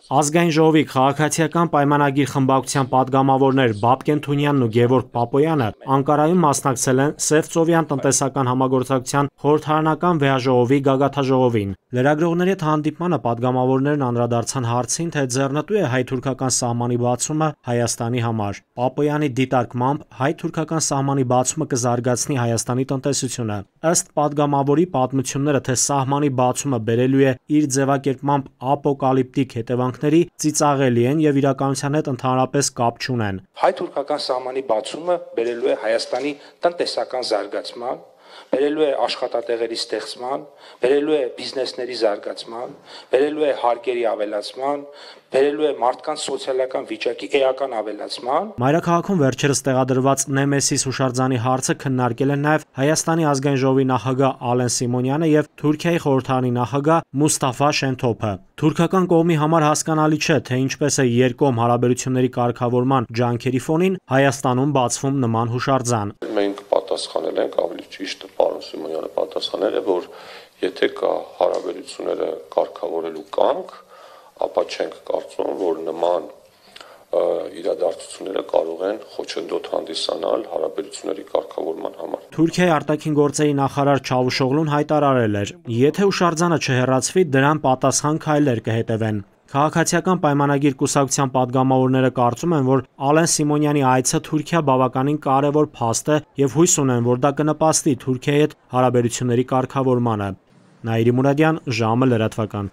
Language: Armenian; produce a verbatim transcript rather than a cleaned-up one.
Ազգային ժողովի քաղաքացիական պայմանագիր խմբակցության պատգամավորներ Բաբկեն Թունյանն ու Գևորգ Պապոյանը Անկարայում մասնակցել են Սևծովյան տնտեսական համագործակցության խորհրդարանական վեհաժողովի գագաթնաժողովին։ Լրագրողների հետ հանդիպմանը պատգամավորներն անդրադարձան հարցին, թե ձեռնտու է հայ-թուրքական սահմանի բացումը Հայաստանի համար։ Պապոյանի դիտարկմամբ հայ-թուրքական սահմանի բացումը կզարգացնի Հայաստանի տնտեսությունը։ Ըստ պատգամավորի, պատմությունները, թե սահմանի բացումը բերելու է իր ձևակերպմամբ ապոկալիպտիկ հետևանքների, ծիծաղելի են եւ իրականության հետ ընդհանրապես կապ չունեն։ Հայ-թուրքական սահմանի բացումը բերելու է Հայաստանի տնտեսական զարգացման, բերելու է աշխատատեղերի ստեղծման, բերելու է բիզնեսների զարգացման, բերելու է հարկերի ավելացման, բերելու է մարդկանց սոցիալական վիճակի էական ավելացման։ Մայրաքաղաքում վերջերս տեղադրված Նեմեսիս հուշարձանի հարցը քննարկել են նաև Հայաստանի ազգային ժողովի նախագահ Ալեն Սիմոնյանը եւ Թուրքիայի խորհրդարանի նախագահ Մուստաֆա Շենթոփը։ Թուրքական կողմի համար հասկանալի չէ, թե ինչպես է երկկողմ հարաբերությունների կարգավորման ջանքերի ֆոնին Հայաստանում բացվում նման հուշարձան։ Մենք պատասխանել ենք, ավելի ճիշտ պարոն Սիմոնյանը պատասխանել է, որ եթե կա հարաբերությունները կարգավորելու կամք, ապա չենք կարծում, որ նման իրադարձությունները կարող են խոչընդոտ հանդիսանալ հարաբերությունների կարգավորման համար։ Թուրքիայի արտաքին գործերի նախարար Չավուշօղլուն հայտարարել էր, եթե հուշարձանը չհեռացվի, դրան պատասխան քայլեր կհետևեն։ Քաղաքացիական պայմանագիր կուսակցության պատգամավորները կարծում են, որ Ալեն Սիմոնյանի այցը Թուրքիա բավականին կարևոր փաստ է եւ հույս ունեն, որ դա կնպաստի Թուրքիայի հետ հարաբերությունների կարգավորմանը։ Նաիրի Մուրադյան, ժամը լրատվական։